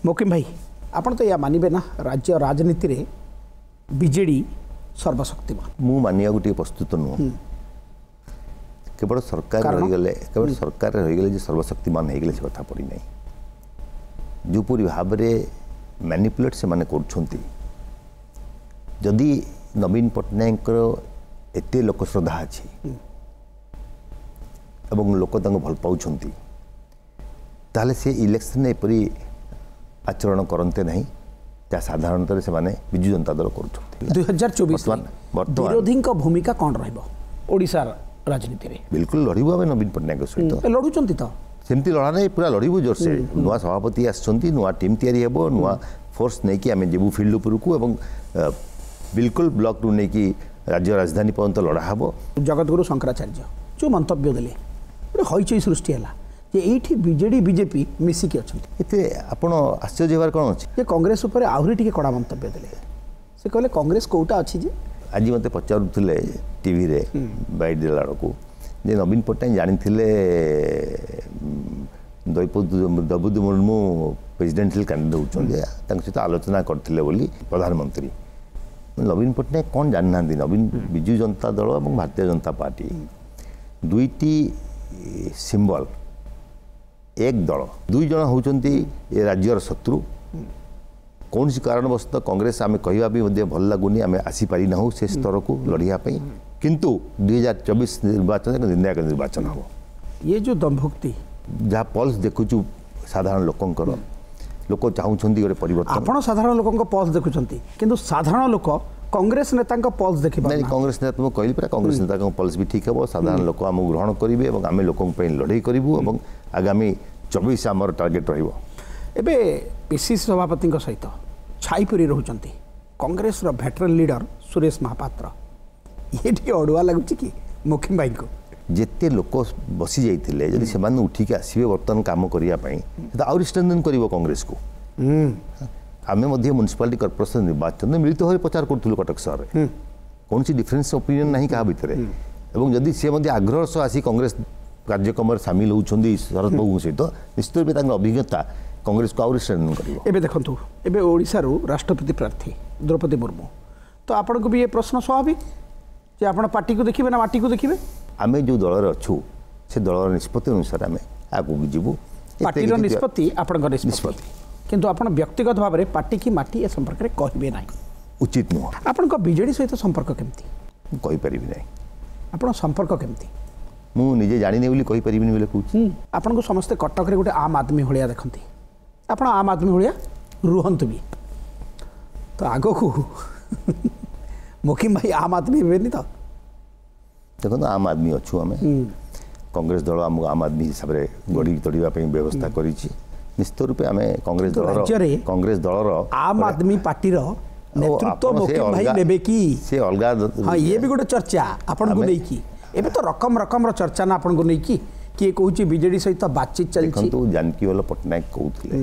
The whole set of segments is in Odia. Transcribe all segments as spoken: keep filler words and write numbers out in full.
ମୋକିମ ଭାଇ, ଆପଣ ତ ୟା ମାନିବେ ନା ରାଜ୍ୟ ରାଜନୀତିରେ ବିଜେଡି ସର୍ବଶକ୍ତିମାନ? ମୁଁ ମାନିବାକୁ ଟିକେ ପ୍ରସ୍ତୁତ ନୁହଁ। କେବଳ ସରକାର ରହିଗଲେ, କେବଳ ସରକାର ରହିଗଲେ ଯେ ସର୍ବଶକ୍ତିମାନ ହେଇଗଲେ ସେ କଥା ପଡ଼ିନାହିଁ। ଯେଉଁପରି ଭାବରେ ମ୍ୟାନିପୁଲେଟ୍ ସେମାନେ କରୁଛନ୍ତି, ଯଦି ନବୀନ ପଟ୍ଟନାୟକଙ୍କର ଏତେ ଲୋକଶ୍ରଦ୍ଧା ଅଛି ଏବଂ ଲୋକ ତାଙ୍କୁ ଭଲ ପାଉଛନ୍ତି, ତାହେଲେ ସେ ଇଲେକ୍ସନରେ ଏପରି ଆଚରଣ କରନ୍ତେ ନାହିଁ ଯାହା ସାଧାରଣତଃ ସେମାନେ ବିଜୁ ଜନତା ଦଳ କରୁଛନ୍ତି। ଦୁଇ ହଜାର ଚବିଶ ବର୍ତ୍ତମାନ ବିରୋଧୀଙ୍କ ଭୂମିକା କ'ଣ ରହିବ ଓଡ଼ିଶାର ରାଜନୀତିରେ? ବିଲକୁଲ ଲଢ଼ିବୁ ଆମେ ନବୀନ ପଟ୍ଟନାୟକଙ୍କ ସହିତ। ଲଢ଼ୁଛନ୍ତି ତ? ସେମିତି ଲଢ଼ା ନାହିଁ, ପୁରା ଲଢ଼ିବୁ ଜୋରସେ। ନୂଆ ସଭାପତି ଆସିଛନ୍ତି, ନୂଆ ଟିମ୍ ତିଆରି ହେବ, ନୂଆ ଫୋର୍ସ ନେଇକି ଆମେ ଯିବୁ ଫିଲ୍ଡ ଉପରକୁ ଏବଂ ବିଲକୁଲ ବ୍ଲକରୁ ନେଇକି ରାଜ୍ୟ ରାଜଧାନୀ ପର୍ଯ୍ୟନ୍ତ ଲଢ଼ା ହେବ। ଜଗତଗୁରୁ ଶଙ୍କରାଚାର୍ଯ୍ୟ ଯେଉଁ ମନ୍ତବ୍ୟ ଦେଲେ, ଗୋଟେ ହଇଚଇ ସୃଷ୍ଟି ହେଲା ଯେ ଏଇଠି ବିଜେଡି ବିଜେପି ମିଶିକି ଅଛନ୍ତି। ଏଥିରେ ଆପଣ ଆଶ୍ଚର୍ଯ୍ୟ ହେବାର କ'ଣ ଅଛି? ଯେ କଂଗ୍ରେସ ଉପରେ ଆହୁରି ଟିକେ କଡ଼ା ମନ୍ତବ୍ୟ ଦେଲେ। ସେ କହିଲେ କଂଗ୍ରେସ କୋଉଟା ଅଛି ଯେ ଆଜି ମୋତେ ପଚାରୁଥିଲେ ଟିଭିରେ ବାଇଟ୍ ଦେଲା ବେଳକୁ ଯେ ନବୀନ ପଟ୍ଟନାୟକ ଜାଣିଥିଲେ ଦ୍ରୌପଦୀ ମୁର୍ମୁ ପ୍ରେସିଡେଣ୍ଟାଲ କ୍ୟାଣ୍ଡିଡେଟ୍ ହେଉଛନ୍ତି, ତାଙ୍କ ସହିତ ଆଲୋଚନା କରିଥିଲେ ବୋଲି ପ୍ରଧାନମନ୍ତ୍ରୀ। ନବୀନ ପଟ୍ଟନାୟକ କ'ଣ ଜାଣିନାହାନ୍ତି? ନବୀନ ବିଜୁ ଜନତା ଦଳ ଏବଂ ଭାରତୀୟ ଜନତା ପାର୍ଟି ଦୁଇଟି ସିମ୍ବଲ, ଏକ ଦଳ, ଦୁଇ ଜଣ ହେଉଛନ୍ତି ଏ ରାଜ୍ୟର ଶତ୍ରୁ। କୌଣସି କାରଣବଶତଃ କଂଗ୍ରେସ ଆମେ କହିବା ବି ମଧ୍ୟ ଭଲ ଲାଗୁନି, ଆମେ ଆସିପାରିନାହୁଁ ସେ ସ୍ତରକୁ ଲଢ଼ିବା ପାଇଁ, କିନ୍ତୁ ଦୁଇ ହଜାର ଚବିଶ ନିର୍ବାଚନ ଏକ ନିର୍ଣ୍ଣାୟକ ନିର୍ବାଚନ ହେବ। ଇଏ ଯେଉଁ ଦମ୍ଭୋକ୍ତି ଯାହା ପଲ୍ସ ଦେଖୁଛୁ ସାଧାରଣ ଲୋକଙ୍କର, ଲୋକ ଚାହୁଁଛନ୍ତି ଗୋଟେ ପରିବର୍ତ୍ତନ। ଆପଣ ସାଧାରଣ ଲୋକଙ୍କ ପଲ୍ସ ଦେଖୁଛନ୍ତି, କିନ୍ତୁ ସାଧାରଣ ଲୋକ କଂଗ୍ରେସ ନେତାଙ୍କ ପଲ୍ସ ଦେଖିବେ ନାଇଁ। କଂଗ୍ରେସ ନେତା ମୁଁ କହିଲି ପୁରା, କଂଗ୍ରେସ ନେତାଙ୍କ ପଲ୍ସ ବି ଠିକ୍ ହେବ। ସାଧାରଣ ଲୋକ ଆମକୁ ଗ୍ରହଣ କରିବେ ଏବଂ ଆମେ ଲୋକଙ୍କ ପାଇଁ ଲଢ଼େଇ କରିବୁ ଏବଂ ଆଗାମୀ ଚବିଶ ଆମର ଟାର୍ଗେଟ୍ ରହିବ। ଏବେ ପିସିସି ସଭାପତିଙ୍କ ସହିତ ଛାଇପରି ରହୁଛନ୍ତି କଂଗ୍ରେସର ଭେଟରାନ୍ ଲିଡର ସୁରେଶ ମହାପାତ୍ର। ଇଏ ଟିକେ ଅଡ଼ୁଆ ଲାଗୁଛି କି ମୁଖିମ ଭାଇଙ୍କୁ? ଯେତେ ଲୋକ ବସି ଯାଇଥିଲେ, ଯଦି ସେମାନେ ଉଠିକି ଆସିବେ ବର୍ତ୍ତମାନ କାମ କରିବା ପାଇଁ, ସେଟା ଆହୁରି ଷ୍ଟ୍ରେନ୍ଥେନ୍ କରିବ କଂଗ୍ରେସକୁ। ଆମେ ମଧ୍ୟ ମ୍ୟୁନିସିପାଲିଟି କର୍ପୋରେସନ ନିର୍ବାଚନରେ ମିଳିତ ଭାବେ ପ୍ରଚାର କରୁଥିଲୁ କଟକ ସହରରେ, କୌଣସି ଡିଫରେନ୍ସ ଓପିନିଅନ୍ ନାହିଁ କାହା ଭିତରେ। ଏବଂ ଯଦି ସେ ମଧ୍ୟ ଆଗ୍ରହର ସହ ଆସି କଂଗ୍ରେସ କାର୍ଯ୍ୟକ୍ରମରେ ସାମିଲ ହେଉଛନ୍ତି ଶରଦ ବାବୁଙ୍କ ସହିତ, ନିଶ୍ଚିତ ରୂପେ ତାଙ୍କର ଅଭିଜ୍ଞତା କଂଗ୍ରେସକୁ ଆହୁରି ଷ୍ଟ୍ରେନ୍ଥେନ୍ କରିବ। ଏବେ ଦେଖନ୍ତୁ, ଏବେ ଓଡ଼ିଶାରୁ ରାଷ୍ଟ୍ରପତି ପ୍ରାର୍ଥୀ ଦ୍ରୌପଦୀ ମୁର୍ମୁ, ତ ଆପଣଙ୍କୁ ବି ଏ ପ୍ରଶ୍ନ ସ୍ୱାଭାବିକ ଯେ ଆପଣ ପାର୍ଟିକୁ ଦେଖିବେ ନା ମାଟିକୁ ଦେଖିବେ? ଆମେ ଯେଉଁ ଦଳରେ ଅଛୁ ସେ ଦଳର ନିଷ୍ପତ୍ତି ଅନୁସାରେ ଆମେ ଆଗକୁ ଯିବୁ। ପାର୍ଟିର ନିଷ୍ପତ୍ତି ଆପଣଙ୍କ ନିଷ୍ପତ୍ତି, କିନ୍ତୁ ଆପଣ ବ୍ୟକ୍ତିଗତ ଭାବରେ ପାର୍ଟି କି ମାଟି ଏ ସମ୍ପର୍କରେ କହିବେ ନାହିଁ, ଉଚିତ ନୁହଁ। ଆପଣଙ୍କ ବିଜେଡି ସହିତ ସମ୍ପର୍କ କେମିତି? ମୁଁ କହିପାରିବି ନାହିଁ। ଆପଣ ସମ୍ପର୍କ କେମିତି? ମୁଁ ନିଜେ ଜାଣିନି ବୋଲି କହିପାରିବିନି ବୋଲି କହୁଛି। ଆପଣଙ୍କୁ ସମସ୍ତେ କଟକରେ ଗୋଟେ ଆମ୍ ଆଦମୀ ଭଳିଆ ଦେଖନ୍ତି, ଆପଣ ଆମ୍ ଆଦମୀ ଭଳିଆ ରୁହନ୍ତୁ ବି ତ ଆଗକୁ ମୁକିମ ଭାଇ ଆମ୍ ଆଦମୀ ହେବେନି ତ? ଦେଖନ୍ତୁ, ଆମ୍ ଆଦମୀ ଅଛୁ ଆମେ। କଂଗ୍ରେସ ଦଳ ଆମକୁ ଆମ୍ ଆଦମୀ ହିସାବରେ ଗଢ଼ି ତୋଳିବା ପାଇଁ ବ୍ୟବସ୍ଥା କରିଛି। ନିଶ୍ଚିତ ରୂପେ ଆମେ କଂଗ୍ରେସ ଦଳର କଂଗ୍ରେସ ଦଳର ଆମ୍ ଆଦମୀ ପାର୍ଟିର ନେତୃତ୍ୱ ମୁକିମ ଭାଇ ନେବେ କି? ସେ ଅଲଗା, ହଁ, ଇଏ ବି ଗୋଟେ ଚର୍ଚ୍ଚା ଆପଣଙ୍କୁ ନେଇକି। ଏବେ ତ ରକମ ରକମର ଚର୍ଚ୍ଚା ନା ଆପଣଙ୍କୁ ନେଇକି। କିଏ କହୁଛି ବିଜେଡି ସହିତ ବାତଚିତ ଚାଲିଛି। ଦେଖନ୍ତୁ, ଜାନକୀବଲ୍ଲଭ ପଟ୍ଟନାୟକ କହୁଥିଲେ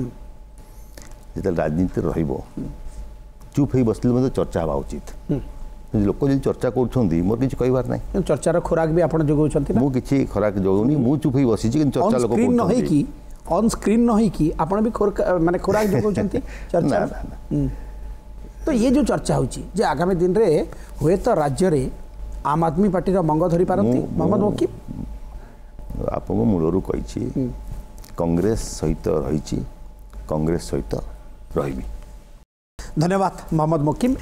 ଯେତେବେଳେ ରାଜନୀତି ରହିବ ଚୁପ୍ ହେଇ ବସିଲେ ମଧ୍ୟ ଚର୍ଚ୍ଚା ହେବା ଉଚିତ। ଲୋକ ଯଦି ଚର୍ଚ୍ଚା କରୁଛନ୍ତି ମୋର କିଛି କହିବାର ନାହିଁ। ଚର୍ଚ୍ଚାର ଖୋରାକ ବି ଆପଣ ଯୋଗାଉଛନ୍ତି? ମୁଁ କିଛି ଖୋରାକ ଯୋଗାଉନି, ମୁଁ ଚୁପ୍ ହେଇ ବସିଛି, କିନ୍ତୁ ଚର୍ଚ୍ଚା ଲୋକ ନ ହେଇକି, ଅନ୍ ସ୍କ୍ରିନ୍ ନ ହେଇକି ଆପଣ ବି ମାନେ ଖୋରାକ ଯୋଗାଉଛନ୍ତି ଚର୍ଚ୍ଚା। ତ ଇଏ ଯେଉଁ ଚର୍ଚ୍ଚା ହେଉଛି ଯେ ଆଗାମୀ ଦିନରେ ହୁଏତ ରାଜ୍ୟରେ ଆମ୍ ଆଦମୀ ପାର୍ଟିର ମଙ୍ଗ ଧରି ପାରନ୍ତି ମହମ୍ମଦ ମୋକିମ? ଆପଣଙ୍କୁ ମୂଳରୁ କହିଛି, କଂଗ୍ରେସ ସହିତ ରହିଛି, କଂଗ୍ରେସ ସହିତ ରହିବି। ଧନ୍ୟବାଦ ମହମ୍ମଦ ମୋକିମ।